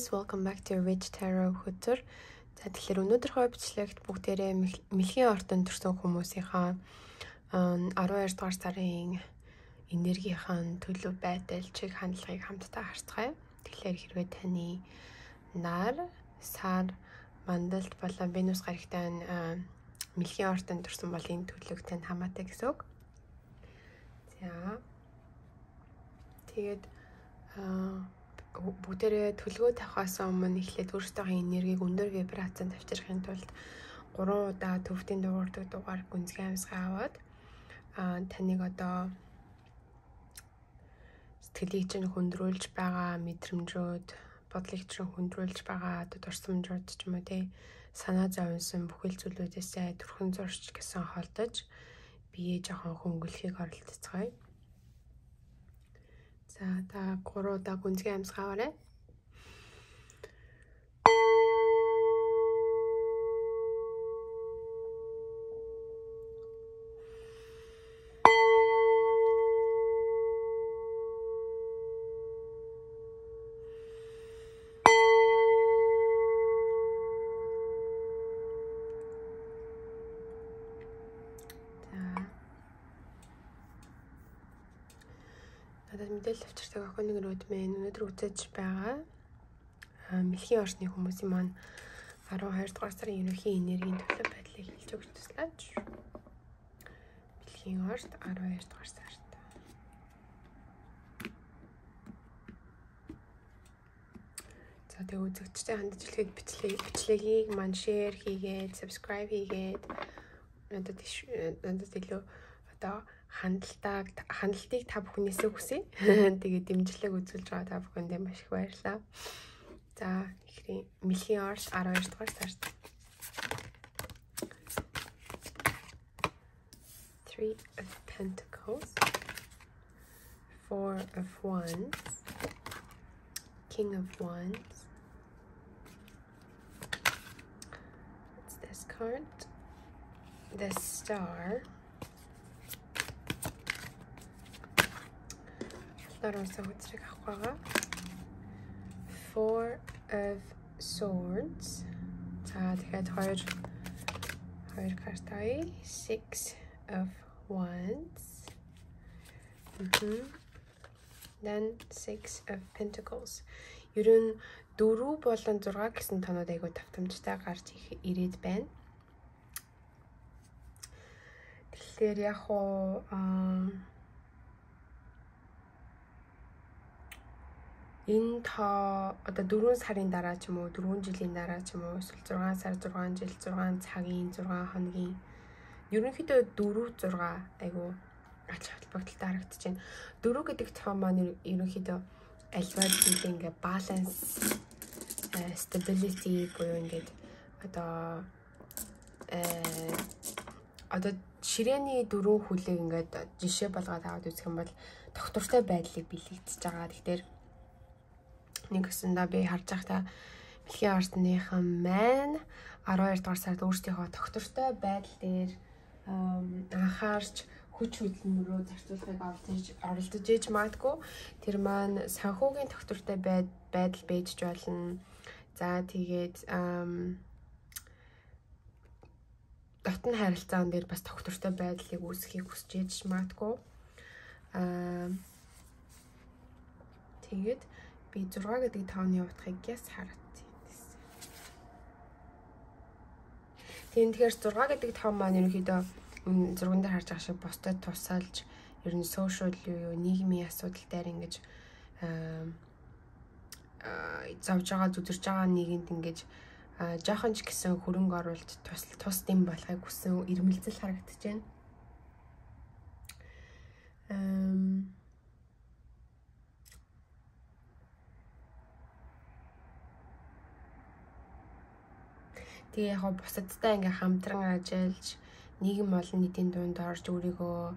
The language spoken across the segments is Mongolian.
guys, welcome back to Rich Tarot хөтөр. За тэгэхээр өнөөдрийнхөө бичлэгт бүгдээрээ мэлхийн ортон төрсэн хүмүүсийнхаа 12 дугаар сарын энергийн төлөв байдал чиг хандлагыг хамтдаа харцгаая. Тэгэхээр хэрвээ таны нар, сар, мандалд болон Венус гарагтай мэлхийн ортон төрсэн бол энэ төлөв танд хамаатай гэсэн үг. За тэгээд бүгдээрээ төлгөө тавихаас өмнө эхлээд өөрсдийнхөө энергийг өндөр вибрацанд авчрахын тулд 3 удаа төвтийн дуурдаг дугаар гүнзгий амьсгаа аваад таныг одоо сэтгэлийг чинь хөндрүүлж байгаа мэдрэмжүүд, бодлыг чинь хөндрүүлж байгаа дурсамжууд ч юм уу тий санаа зовсон бүхэл зүйлүүдээсээ төрхөн зурч гэсэн холдож биеэ жоохон хөнгөлөхийг оролцоцгоё. За та 3 удаа гүнзгий амьсгаа аваарай. Надад мэдээлэл авчирдаг охины гэрүүд мэн өнөөдөр үзэж байгаа мэлхийн орчны хүмүүсийн маань 12 дугаар сарын ерөнхий энергийн төлөв байдлыг хэлж өгч туслаач. Мэлхийн орчт 12 дугаар сард. За тэг үзэгчтэй хандаж хэлэхэд бичлэгийг маань шеэр хийгээд, subscribe хийгээд надад илүү одоо хандлтыг та бүхнээсээ хүсье. Тэгээд дэмжлэг үзүүлж байгаа та бүхэндээ маш их баярлалаа. За ихрийн мэлхийн орч 12 дугаар сард. 3 of Pentacles, 4 of Wands, King of Wands. What's this card? The Star. Four of Swords. За тэгээд хоёр картай. 6 of Wands. Then 6 of Pentacles. Ер нь 4 болон 6 гэсэн тоноод айгуу тавтамжтай гарч ирээд байна. Тэгэхээр яг хоо энэ та одоо 4 сарын дараа ч юм уу 4 жилийн дараа ч юм уу эсвэл 6 сар 6 жил 6 цагийн 6 хоногийн ерөнхийдөө 4 6 айгу ач холбогдолтой харагдаж байна. 4 гэдэг том маань ерөнхийдөө альва зүйлээ ингээ баланс stability буюу ингээд одоо ширээний 4 хүлээг ингээд жишээ болгоод аваад үзэх юм бол доктортой байдлыг бэлэгдэж байгаа. Тэгэхээр нэг гэсэндээ би харж байхдаа мэлхийн ортныхан маань 12 дугаар сард өөрсдийнхөө доктортой байдал дээр анхаарч хүч хөдөлмөрөө зарцуулахыг оролдож ээж магадгүй. Тэр маань санхүүгийн доктортой байдал байж болно. За тэгээд дотн харилцаан дээр бас доктортой байдлыг үүсгэхийг хүсэж ээж магадгүй. Тэгээд би 6 гэдэг тооны утгыг яс харагдсан. Тэгэхээр 6 гэдэг тоон маань ерөнхийдөө зурган дээр харж байгаа шиг бусдад тусалж ер нь сошиал юу нийгмийн асуудал дээр ингэж завж байгаа зүдэрж байгаа нийгэмд ингэж жоохон ч гэсэн хөрөнгө оруулалт тус дэм болохыг хүсэн ирмэлзэл харагдаж байна. Тэгээ яг бусадтай ингээ хамтран ажиллаж нийгэм олон нийтийн дунд орж өөрийгөө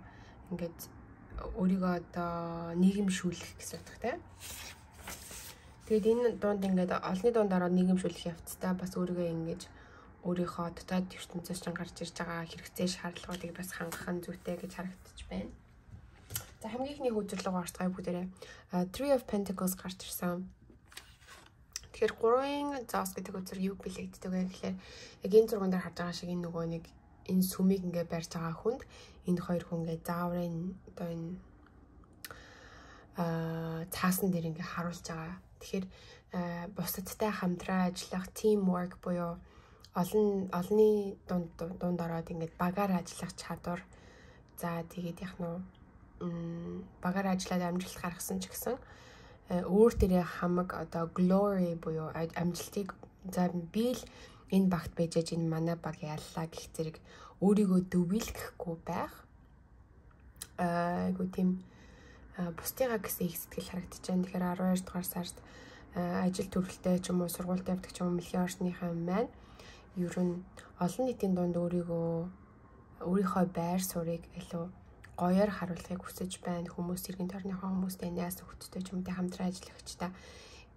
одоо нийгэмшүүлэх гэсэн утгатай. Тэгээд энэ дунд ингээд олонний дунд ороод нийгэмшүүлэх явцдаа бас өөрийгөө ингэж өөрийнхөө дотоод ертөнцөөс чинь гарч ирж байгаа хэрэгцээ шаардлагуудыг бас хангах нь зүйтэй гэж харагдаж байна. За хамгийн ихний хөдөлгөөн орцгой бүгдээрээ 3 of Pentacles гарч ирсэн. Тэгэхээр 3-ын зоос гэдэг үзэр юу бэлэгддэг вэ гэхээр яг энэ зурган дээр харж байгаа шиг энэ нөгөө нэг энэ сүмийг ингээ барьж байгаа хүнд энэ хоёр хүн ингээ зааврын одоо энэ цаасан дээр ингээ харуулж байгаа. Тэгэхээр бусадтай хамтран ажиллах teamwork буюу олонний дунд ороод ингээд багаар ажиллах чадвар. За тэгээд яг нь багаар ажиллаад амжилт гаргасан ч гэсэн өөр дээрээ хамаг одоо glory буюу амжилтыг за би л энэ багт байж энэ манай баг яллаа гэх зэрэг өөрийгөө дүвэлгэхгүй байх. Айгу тийм бусдыгаа гэсэн их сэтгэл харагдаж байна. Тэгэхээр 12 дугаар сард ажил төрөлтэй ч юм уу сургуульд явдаг ч юм уу мэлхийн орчныхаа маань ер нь олон нийтийн дунд өөрийнхөө байр суурийг илүү гоёор харуулахыг хүсэж байна. Хүмүүс иргэн тойрныхоо хүмүүстэй найз нөхөдтэй ч юм уу хамтран ажиллагчдаа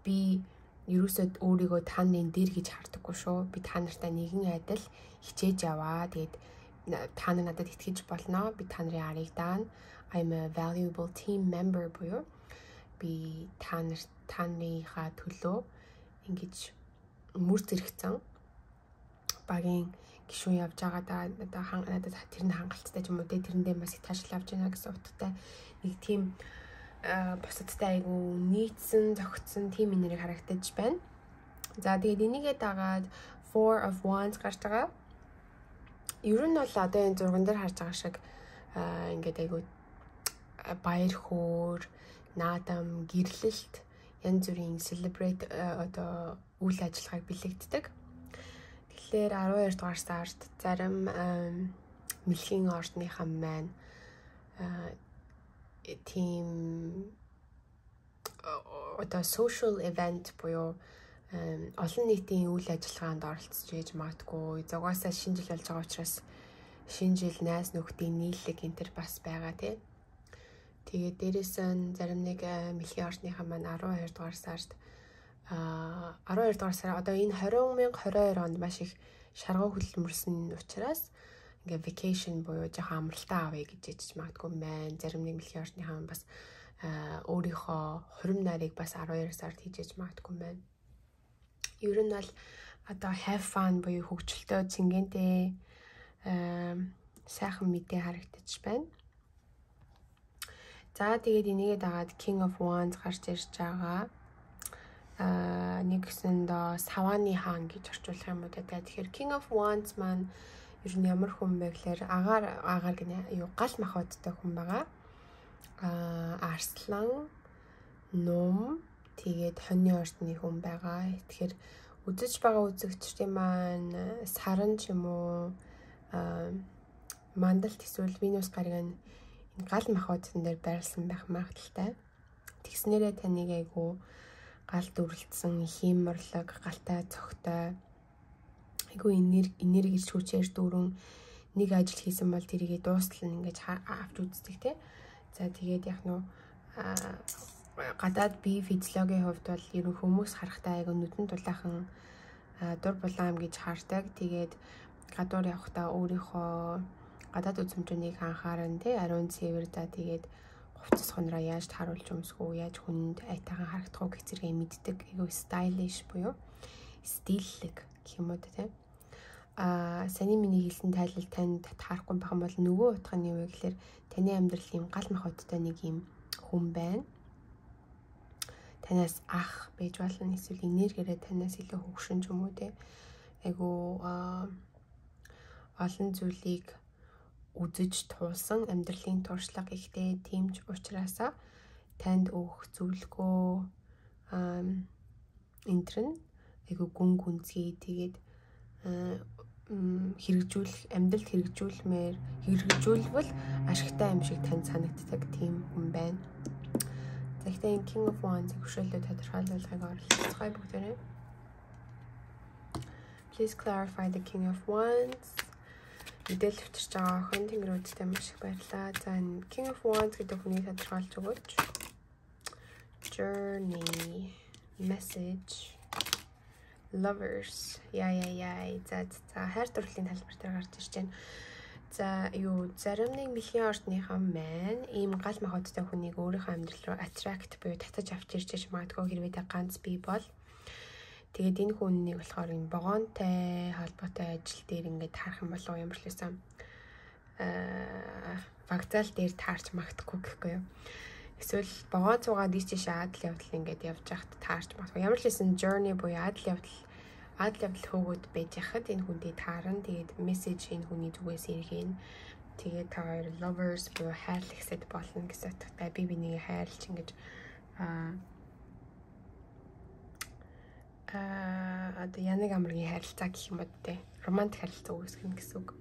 би ерөөсөө өөрийгөө та нарын дээр гэж хардаггүй шүү. Би та нартай нэгэн адил хичээж яваа. Тэгээд та нар надад итгэж болно. Би та нарын арыг даана. I'm a valuable team member буюу би та нарынхаа төлөө ингэж мөр зэрэгцэн багийн гишүүн явж байгаа надад тэр нь хангалттай ч юм уу тэрэндээ бас их таашаал авч байна гэсэн утгатай нэг тийм бусадтай айгу нийцсэн зохицсон тийм энерги харагдаж байна. За тэгээд энийгээ дагаад 4 of Wands гарч байгаа. Ер нь бол одоо энэ зурган дээр харж байгаа шиг ингээд айгу баяр хөөр, наадам, гэрлэлт янз бүрийн celebrate одоо үйл ажиллагааг бэлэгддэг. Тэгэхээр 12 дугаар сард зарим мэлхийн орчныхаа маань тийм одоо social event буюу олон нийтийн үйл ажиллагаанд оролцож ээж магадгүй. Зугаасаа шинэ жил болж байгаа учраас шинэ жил найз нөхдийн нийллэг энэ төр бас байгаа тий. Тэгээд дээрээс нь зарим нэг мэлхийн орчныхаа маань 12 дугаар сард 12 дугаар сар одоо энэ 2022 онд маш их шаргуу хөдөлмөрсөн учраас ингээ vacation буюу жоохон амралтаа авъя гэж ичж магадгүй маань. Зарим нэг мэлхийн орчныхаа бас өөрийнхөө хурим нарыг бас 12 сард хийж магадгүй маань. Ер нь бол одоо have fun буюу хөгжилтэй цэнгэнтэй сайхан мэдээ харагдаж байна. За тэгээд энийгээ дагаад King of Wands гарч ирж байгаа. Нэгсэндээ савааны хаан гэж орчуулах юм уу те. Тэгэхээр King of Wands маань ер нь ямар хүн бэ гэхээр агаар гинэ юу гал махбодтой хүн байгаа. Арслан, ном, тэгээд хоньны орчны хүн байгаа. Тэгэхээр үзэж байгаа үзэгчдийн маань саран ч юм уу мандалт эсвэл Венус гариг энэ гал махбодсон дээр байрлсан байх магадaltaй. Тэгснээрээ таныг айгу гал дүрлэлтсэн хиймэрлэг, галтай цогтой айгу энергич хүчээр дүүрэн нэг ажил хийсэн бол тэрийгээ дуустал нь ингэж авч үздэг тий. За тэгээд яг нөө гадаад бие физиологийн хувьд бол ер нь хүмүүс харахтаа айгу нүдэн дулаахан дур булаам гэж хардаг. Тэгээд гадуур явахдаа өөрийнхөө гадаад үзмжнийг анхааран тий ариун цэвэр за тэгээд хувцас хонроо яаж тааруулж өмсгөө яаж хүнд айтайхан харагдах уу гэх зэрэг мэддэг айгу stylish буюу стиллэг гэх юм уу тий. Саний миний хэлсэн тайлал танд таарахгүй байх юм бол нөгөө утга нь юу вэ гэхээр таны амьдрал юм гал махбодтой нэг юм хүн байна. Танаас ах байж болно эсвэл энергиэрээ танаас илүү хөгшин ч юм уу тий. Айгу олон зүйлийг үзэж туулсан амьдралын туршлага ихтэй тийм ч учраас танд өгөх зөвлөгөө энтрэн айгу гүн гүнзгий тэгээд хэрэгжүүлэх амьдралд хэрэгжүүлвэл ашигтай юм шиг танд санагддаг тийм хүн байна. Тэгэхдээ King of Wands хөшөөлөд тодорхойлуулгыг оруулцгаая бүгдээрээ. Please clarify the King of Wands. Мэдээлэл өчрж байгаа охин тэнгэрүүдтэй маш их баярлалаа. За King of Wands гэдэг хүнийг тодорхойлж өгөөч. Journey, message, lovers. Яа. За хайр дурлалын талбар дээр гарч ирж байна. За зарим нэг мэлхийн орчныхаа маань ийм гал махбодтой хүнийг өөрийнхөө амьдрал руу attract буюу татаж авч ирж магадгүй хэрвээ та ганц бий бол Тэгээд энэ хүннийг болохоор энэ вагонтой холбоотой ажил дээр ингээд таарах юм болов ямар ч лээсэн вокзал дээр таарч магтахгүй гэхгүй юу. Эсвэл вагон цугаад ийш адал явдал ингээд явж байхад таарч магтахгүй. Ямар ч лээсэн journey буюу адал явдал хөөгд байж хахад энэ хүндээ таарна. Тэгээд мессеж энэ хүний зүгээс иргэн. Тэгээд та хоёр lovers буюу хайрлагсад болно гэсэн утгатай би бинийг хайрлж ингэж одоо янаг амргийн харилцаа гэх юм бод те. Романтик харилцаа үүсгэн гэсэн үг.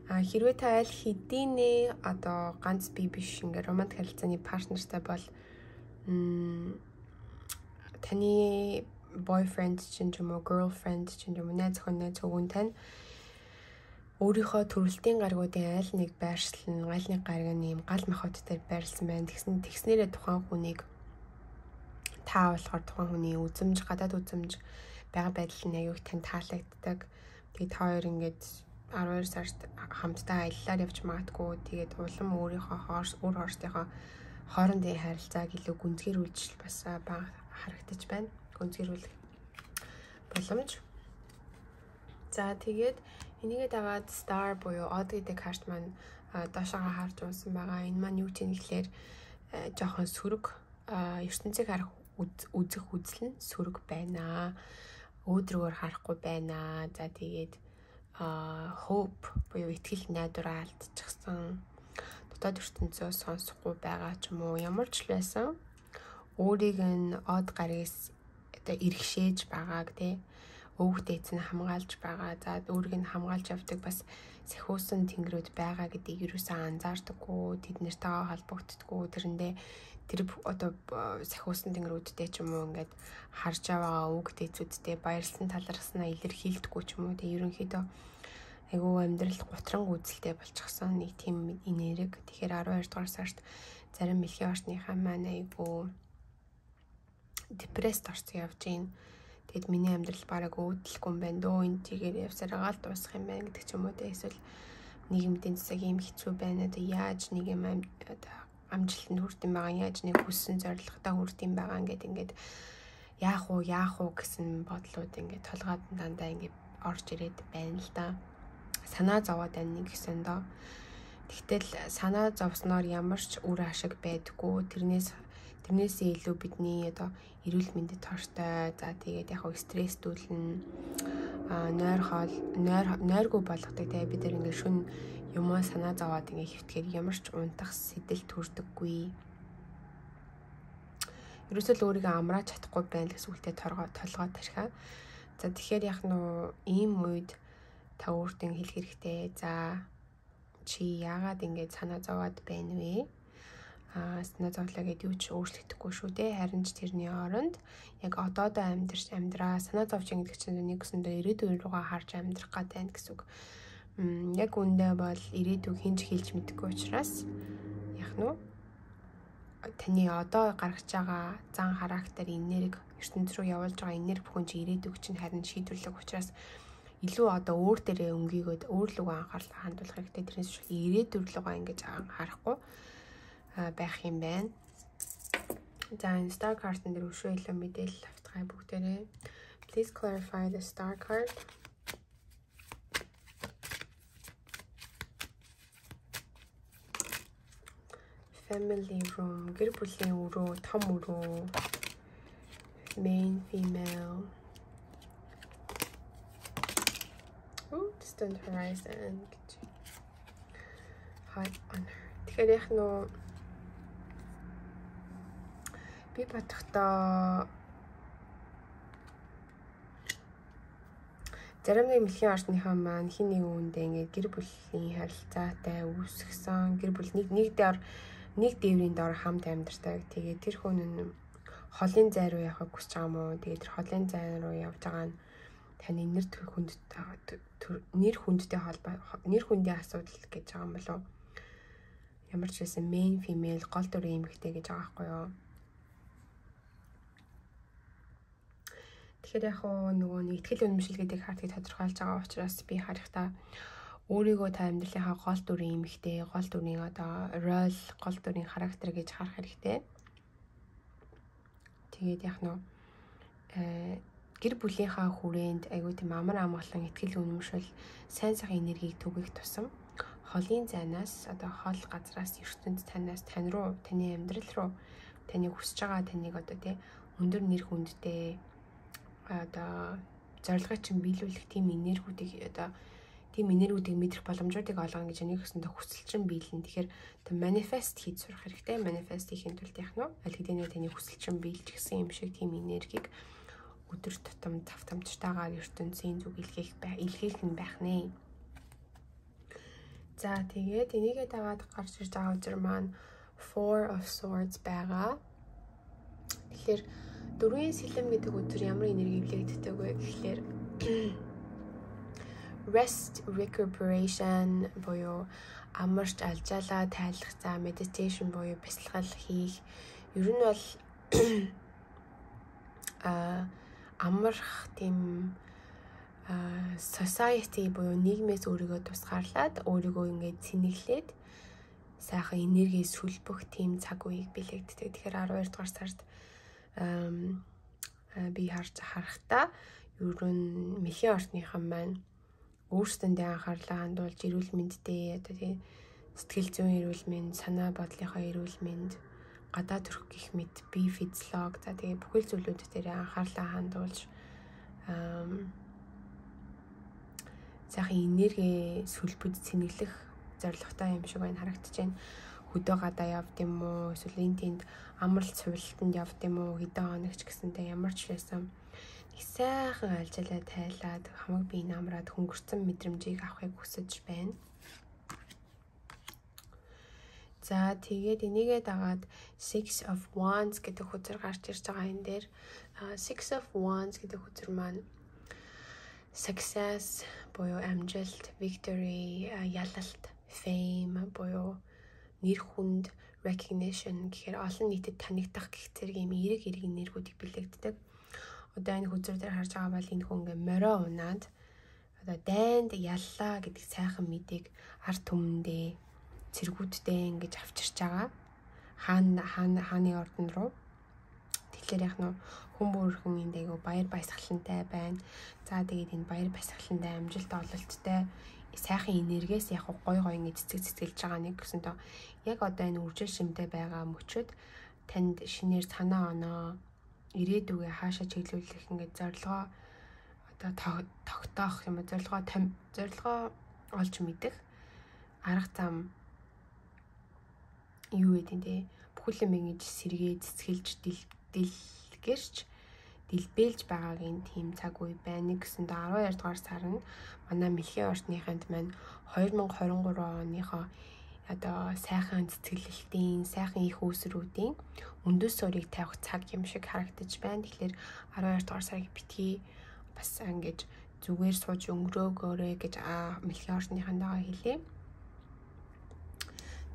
Хэрвээ та аль хэдийнэ одоо ганц би биш ингээ романтик харилцааны партнертай бол таны boyfriend чинь ч юм уу girlfriend чинь юм уу найз охин тань өөрийнхөө төрөлтийн гаргуудын аль нэг байршлан аль нэг гаргийн юм гал махбодтой байрлсан байна. Тэгснээрээ тухайн хүнийг та болохоор тухайн хүний үзэмж гадаад үзэмж байгаа байдал нь аюух тань таалагддаг. Тэгээд та хоёр ингээд 12 сард хамтдаа аяллаар явж магадгүй. Тэгээд улам өөрийнхөө өөр хоортынхоо хоорондын харилцааг илүү гүнзгийрүүлж бас бага харагдаж байна. Гүнзгийрүүлэх боломж. За тэгээд энийгээ дагаад star буюу odd гэдэг карт маань доошоогоо харж унсан байгаа. Энэ маань юу ч юм гэхлээр жоохон сөрөг ертөнцийг харах үзэх үзэл нь сөрөг байна. Өөдрөгөр харахгүй байна. За тэгээд hope буюу итгэл найдвараа алдчихсан. Дотоод ертөнцөө сонсохгүй байгаа ч юм уу. Ямар ч л байсан өөрийг нь од гаргаас одоо иргэшээж байгааг тий өвгдөө эзэн хамгаалж байгаа. За өөрийг нь хамгаалж явдаг бас сахиусан тэнгэрүүд байгаа гэдгийг юусэн анзаардаггүй. Тэд нэртэйгээ холбогддоггүй. Тэрэндээ тэр одоо сахиусан тэнгэрүүдтэй ч юм уу ингээд харж байгаа өвгдөө эзүүдтэй баярлсан талархснаа илэрхийлдэггүй ч юм уу. Тэгээ ерөнхийдөө айгүй амьдрал гутран үзэлтэй болчихсон нэг тийм энерги. Тэгэхээр 12 дугаар сард зарим мэлхийн орчныхаа маань айгүй депресд орсон явж байна. Тэгэд миний амьдрал бараг өөдлөхгүй юм байна. Дөө энэ чигээр явсараа л дуусах юм байна гэдэг ч юм уу. Эсвэл нийгэмдийн засаг юм хэцүү байна. Одоо яаж нэг юм амжилтанд хүрдэм байгаа, яаж нэг хүссэн зорилготой хүрдэм байгаа ингээд яах уу гэсэн бодлууд ингээд толгойд дандаа ингээд орж ирээд байна л да. Санаа зовоод байна нэг гэсэн доо. Тэгтэл санаа зовсноор ямар ч үр ашиг байдаггүй. Тэрнээсээ илүү бидний одоо эрүүл мэндэд тоортой. За тэгээд яг стресстүүлнэ. Нойргүй болгодог. Тэгээ бид нар ингээд шүн юмаа санаа зовоод ингээд хөвтгээр ямар ч унтах сэтэл төрдөггүй. Ерөөсөө л өөрийгөө амрааж чадахгүй байна гэсэн үгтэй толгой тархаа. За тэгэхээр яг нөө ийм үед та өөртөө хэлэх хэрэгтэй. За чи яагаад ингэж санаа зовоод байна вэ? Санаа зовлоо гэдээ юу ч өөрчлөгдөхгүй шүү дээ. Харин ч тэрний оронд яг одоодоо амьдраа санаа зовж байгаа гэдэг чинь нэгсэндээ ирээдүйн руугаа харж амьдрах гэдэг байна гэсэн үг. Яг үндэ бол ирээдүйг хинж хэлж мэдэхгүй учраас яг нөө таны одоо гаргаж байгаа зан характер энерги ертөнц рүү явуулж байгаа энерги бүхэн чи ирээдүйг чинь харин шийдвэрлэх учраас илүү одоо өөр дээрээ өнгийгөөд өөр луг анхаарал хандуулах хэрэгтэй. Тэрнээс биш ирээдүйн руугаа ингэж харахгүй байх юм байна. За энэ star card-ын дээр өшөө илүү мэдээлэл автгай бүгдээрээ. Please clarify the star card. Family room, гэр бүлийн өрөө, том өрөө, main female. Distant horizon. High honor. Тэгэхээр яг нөө би бодохдоо зарим нэг мэлхийн орчныхаа маань хин нэг үүндээ ингээд гэр бүлийн харилцаатай үүсгэсэн гэр бүл нэг дээврийн дор хамт амьдардаг. Тэгээд тэр хүн нь холын зай руу явахыг хүсэж байгаа юм уу? Тэгээд тэр холын зай руу явж байгаа нь таны нэр хүндийн асуудал гэж байгаа юм болов уу? Ямар ч байсан main female гол дүрийн эмэгтэй гэж байгаа байхгүй юу? Тэгэхээр яг нөгөө нэг итгэл үнэмшил гэдэг хартыг тодорхойлж байгаа учраас би харахтаа өөрийгөө та амьдралынхаа гол дүрийн эмэгтэй, гол дүрийн одоо role, гол дүрийн характер гэж харах хэрэгтэй. Тэгээд яг нөө гэр бүлийнхаа хүрээнд айгүй тийм амар амгалан ихтгэл үнэмшил сайн сайхан энергийг түгэх тусам холын зайнаас одоо хол газраас ертөнд танаас тань руу, таны амьдрал руу, таны хүсэж байгаа таныг одоо тий өндөр нэр хүндтэй одоо зорилгыг чинь биелүүлэх тийм энергиүүдийг одоо тийм энергиүүдийг мэдрэх боломжуудыг олгоно гэж энийг гэсэн хүсэл чинь биелнэ. Тэгэхээр одоо манифест хийж сурах хэрэгтэй. Манифест хийхин тулд яах нь аль хэдийн таны хүсэл чинь биелж гисэн юм шиг тийм энергийг өдөр тутам тавтамжтайгаар ертөнцийн зүг илгээх нь байх нэ. За тэгээд энийгээ дагаад гарч ирж байгаа үзэр маань Four of Swords байгаа. Тэгэхээр дөрвийн сэлэм гэдэг үзэр ямар энерги илгээгддэг вэ гэхлээр rest, recuperation буюу амарч алжаалаа тайлах, за meditation буюу бясалгал хийх. Ер нь бол амарх тийм society буюу нийгмээс өөрийгөө тусгаарлаад өөрийгөө ингээд цэнэглээд сайхан энерги сүлбөх тийм цаг үеийг бэлэгддэг. Тэгэхээр 12 дугаар сард би харахтаа ер нь мэхийн орчныхан маань өөрсдөндөө анхаарлаа хандуулж эрүүл мэндтэй одоо тийм сэтгэл зүйн эрүүл мэнд, санаа бодлынхаа эрүүл мэнд, гадаад төрх гэх мэт бие физиолог за тэгээ бүхэл зүйлүүд дээр анхаарлаа хандуулж сайхан энерги сүлбэд цэнэглэх зорилготой юм шиг байна харагдаж байна. Хөдөө гадаа явд юм уу, эсвэл энэ тэнд амралт сувилтанд явд юм уу, хэдэн хоногч гэсэнтэй ямар ч байсан их сайхан алжаалаа тайлаад хамаг бие намраад хөнгөрцөн мэдрэмжийг авахыг хүсэж байна. За тэгээд энийгээ дагаад Six of Wands гэдэг үзэр гарч ирж байгаа энэ дээр Six of Wands гэдэг үзэр маань success буюу амжилт, victory, ялалт, fame буюу нэр хүнд, recognition гэхээр олон нийтэд танигдах гэх зэрэг юм эерэг энергиүүдийг бэлэгддэг. Одоо энэ хүзэр дээр харж байгаа бол энэ хүн ингээ морио унаад одоо дайнд яллаа гэдэг сайхан мэдээг ард түмэндээ цэргүүддээ ингэж авчирч байгаа. Хааны ордон руу. Тэгэхээр яг нь хүн бүрхэн энд айгу баяр баясгалантай байна. За тэгээд энэ баяр баясгалантай амжилт ололттой сайхан энергиэс яг гой ингэж цэцгэлж байгаа нэг гэсэн тоо яг одоо энэ үржил шимтэй байгаа мөчөд танд шинээр санаа оноо ирээдүгээ хаашаа чиглүүлэх ингээд зорилгоо одоо тогтоох юм уу зорилгоо олж мэдэх арга зам юу гэдэг нь бүхэл юм ингэж сэргээ цэцгэлж дэлгэрч дэлбэлж байгаагийн тийм цаг үе байна гэсэн дэ 12 дугаар сар нь манай мэлхийн орчныханд маань 2023 оныхоо одоо сайхан цэцгэлэлтийн, сайхан их үүсрүүдийн өндөс суурийг тавих цаг юм шиг харагдаж байна. Тэгэхээр 12 дугаар сарыг битгий бас ингэж зүгээр сууж өнгөрөөгөөрэй гэж мэлхийн орчныхандаа хэлье.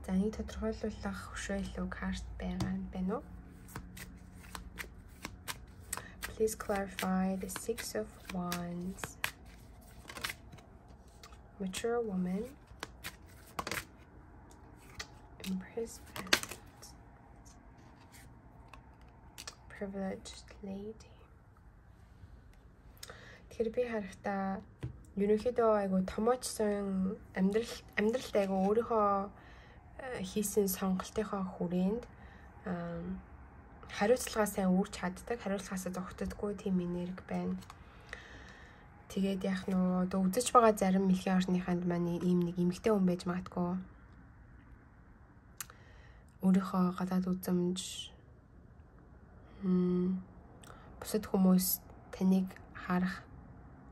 За нэг тодорхойлуулах хөшөөлөв карт байна уу? Please clarify the Six of Wands. Mature woman. Imprisonment. Privileged lady. Тэгэхээр би харахтаа ерөнхийдөө айгу томоочсон амьдралд айгу өөрийнхөө хийсэн сонголтынхоо хүрээнд хариуцлагаа сайн үүрч чаддаг, хариуцлагаасаа зогтдоггүй тийм энерги байна. Тэгээд яг нөө одоо үзэж байгаа зарим мэлхийн орчныханд маань ийм нэг эмэгтэй хүн байж магадгүй. Өөрийнхөө гадаад үзэмж бусад хүмүүс таныг харах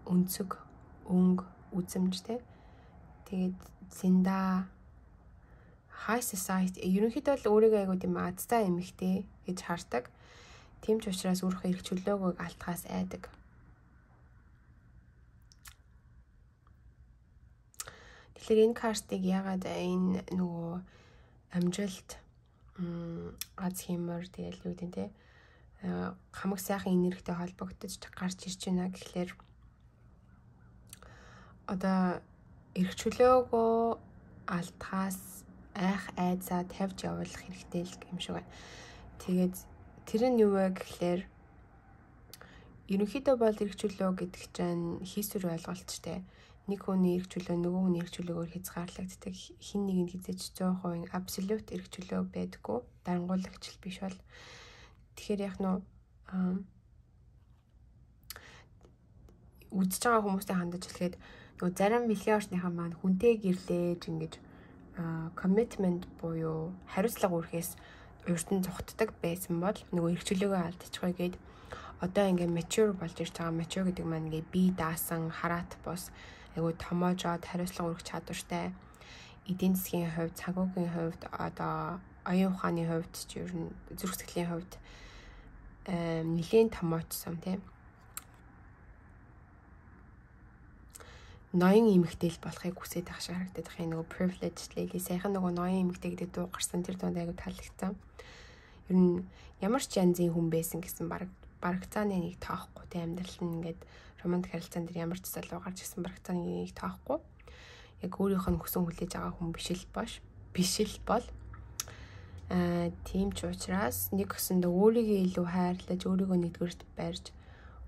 өнцөг, өнгө, үзэмжтэй. Тэгээд зинда high society ерөнхийдөө л өөрийгөө айгуу тийм азтай эмэгтэй гэж хардаг. Тийм ч учраас өөрийнхөө эрх чөлөөгөө алдахаас айдаг. Тэгэхээр энэ картыг ягаад энэ нөгөө амжилт аз хэмээр тэгэл юу гэдэг те хамаг сайхан энергитэй холбогдож гарч ирж байна гэхлээр одоо эрх чөлөөгөө алдахаас айх айцаа тавьж явуулах хэрэгтэй л юм шиг байна. Тэгээд тэр нь юу вэ гэхлээр ерөнхийдөө бол эрх чөлөө гэдэг чинь хийсвэр ойлголттой. Нэг хүний эрх чөлөө нөгөө хүний эрх чөлөөгөөр хязгаарлагддаг. Хин нэгэнд хязгаарч 100% абсолют эрх чөлөө байдаггүй. Дарангуулагч биш бол. Тэгэхээр яг нөө үзэж байгаа хүмүүстэй хандаж хэлэхэд нөгөө зарим бэлгийн орчныхаа маань хүнтэй гэрлээж ингэж commitment буюу хариуцлага үүрхээс урьдан зугтдаг байсан бол нөгөө эрх чөлөөгөө алдчихгоо гээд одоо ингээ mature болж ирж байгаа. Mature гэдэг маань ингээ бие даасан, хараат бус, айгу томоожоод хариуцлага өргөх чадвартай. Эдийн засгийн хувьд, санхүүгийн хувьд, одоо оюун ухааны хувьд ч ер нь зүрх сэтгэлийн хувьд нэлийн томоочсон тийм. Ноён эмэгтэйл болохыг хүсэж байгаа шиг харагдаад байгаа. Нөгөө privileged lady сайхан нөгөө ноён эмэгтэй гэдэг дуу гарсан тэр дунд айгу таалагдсан. Ер нь ямар ч янзын хүн байсан гэсэн барагцааны нэг тоохгүй тийм амьдрал нь ингээд романтик харилцаан дээр ямар ч залуу гарч ирсэн барагцааны нэг тоохгүй. Яг өөрийнх нь хүсэн хүлээж байгаа хүн биш л бол тийм ч учраас нэг өсөндөө өөрийгөө илүү хайрлаж, өөрийгөө нэгдүгээрт барьж,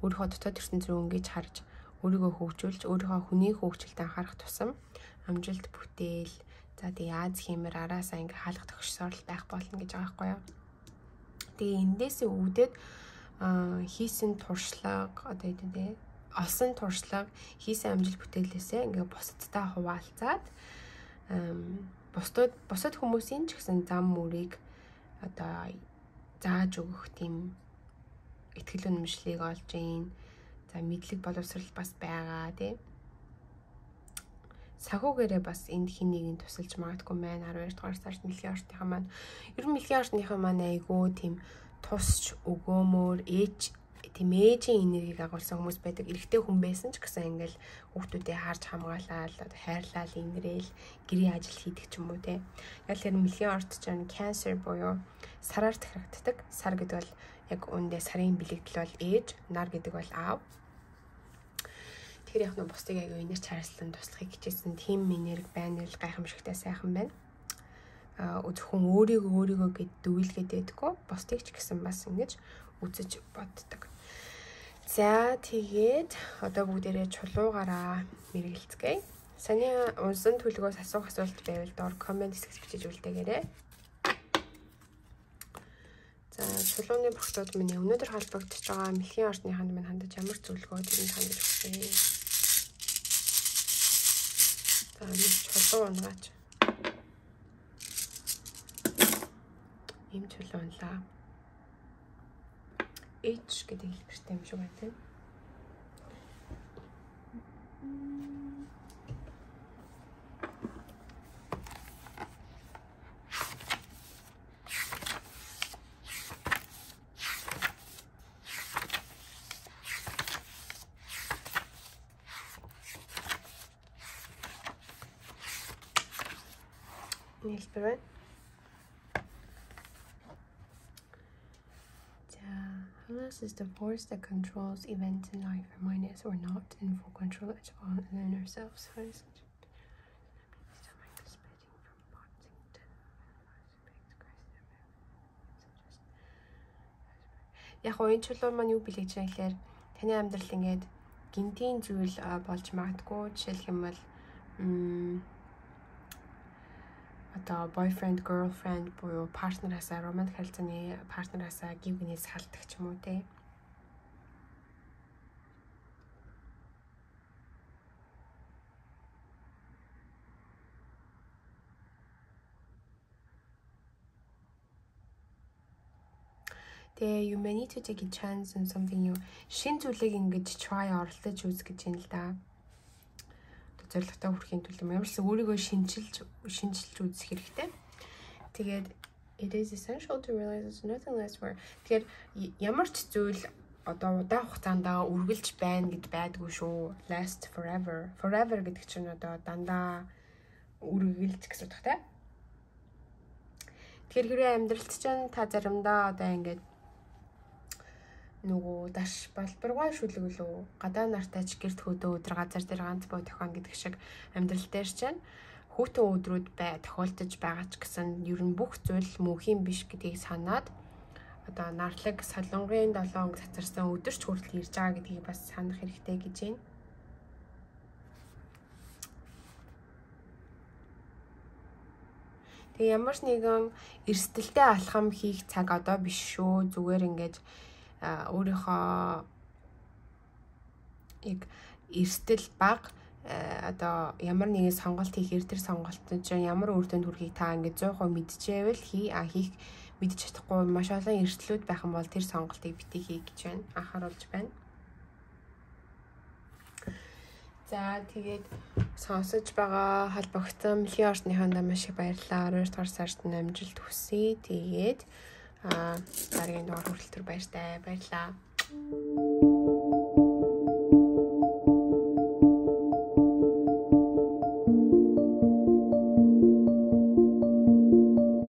өөрийнхөө дотоод ертөнц рүү ингэж харж, өөрийгөө хөгжүүлж, өөрийнхөө хүний хөгжилд анхаарах тусам амжилт бүтээл, за тэгээ Аз хэмээр араасаа ингээ хаалга төгссоор л байх болно гэж байгаа байхгүй юу. Тэгээ эндээс үүдээд хийсэн туршлага одоо тийм олсон туршлага, хийсэн амжилт бүтээлээсээ ингээ бусадтай хуваалцаад бусад хүмүүсийн ч гэсэн зам мөрийг одоо зааж өгөх тийм итгэл үнэмшлийг олж ийн. За мэдлэг боловсрал бас байгаа тийм. Сахуугаараа бас энд хин нэгийг тусалж магадгүй байна. 12 дугаар сард мэлхийн орчныхаа маань ер нь мэлхийн орчныхаа маань айгүй тийм тусч өгөөмөр ээжийн энергийг агуулсан хүмүүс байдаг. Эрэгтэй хүн байсан ч гэсэн ингээл хүүхдүүдээ харж хамгаалаад хайрлал инрээл гэрийн ажил хийдэг ч юм уу те. Яг л мэлхийн орт чинь cancer буюу сараар захирагддаг. Сар гэдэг бол яг үүндээ сарын бэлэгдэл бол ээж, нар гэдэг бол аав. Тэгэхээр яг нь бусдыг аяга инэрч харьцсан туслахыг хичээсэн тийм энерги байна л гайхамшигтай сайхан байна. Зөвхөн өөрийгөө гэд дүйлгээд байдаггүй. Бусдыг ч гэсэн бас ингэж үзэж боддог. За тэгээд одоо бүгдээрээ чулуугаараа мэргэлцгээе. Саний унсан төлөвөөс асуух асуулт байвал доор комент хэсэгт бичиж үлдээгээрэй. За чулууны багтууд миний өнөөдөр холбогдож байгаа мэлхийн орчныханд минь хандаж ямар зөвлөгөө тэрийг хандаж өгье. За нэг чулуу унгаач. Ийм чулуу унлаа. H гэдэг хэлбэртэй юм шиг байна тийм. Хэлбэр байна. Halas is the force that controls events in life, remind us we're not in full control at all in ourselves. Яг энэ чулуу маань юу билэж байгаа гэхээр таны амьдрал ингээд гинтийн зүйл болж магадгүй. Жишээлх юм бол одоо boyfriend, girlfriend буюу партнераасаа, романтик харилцааны партнераасаа гив гинээс халдах ч юм уу те. Тэгээ you may need to take a chance on something new. Шин зүйлийг ингэж try оролдож үз гэж юм л да. Зорилготой хүрэхийн тулд ямар ч өөрийгөө шинжилж үзэх хэрэгтэй. Тэгээд it is essential to realize there's nothing less for. Тэгэхээр ямар ч зүйл одоо удаан хугацаанд үргэлж байна гэж байдгүй шүү. Last forever. Forever гэдэг чинь одоо дандаа үргэлж гэсэн утгатай. Тэгэхээр хэрвээ амьдралд чинь та заримдаа одоо ингээд нөгөө даш балбаргай шүлгэлөө гадаа нартаач гэрт хөдөө өдөр газар дээр ганц боо тохион гэдэг шиг амьдрал дээр чинь хүүтэн өдрүүд тохиолдож байгаа ч гэсэн ер нь бүх зүйл мөнхийн биш гэдгийг санаад одоо нарлаг солонгын 7 хоног цацарсан өдөрч хүртэл ирж байгаа гэдгийг бас санах хэрэгтэй гэж байна. Тэгээ ямар ч нэгэн эрсдэлтэй алхам хийх цаг одоо биш шүү. Зүгээр ингэж өөрийнхөө яг эрсдэл бага одоо ямар нэгэн сонголт хийхээр тэр сонголтод чинь ямар үр дүнд хүрэхийг та ингэж 100% мэдчихэвэл хийх мэдчих чадахгүй маш олон эрсдлүүд байх юм бол тэр сонголтыг битгий хий гэж байна. Анхааруулж байна. За тэгээд сонсож байгаа холбогдсон Мөлхийн орчныхандаа маш их баярлалаа. 12 дугаар сард амжилт хүсье. Тэгээд дараагийн дугаар хүрэлтэр баяртай. Баярлалаа.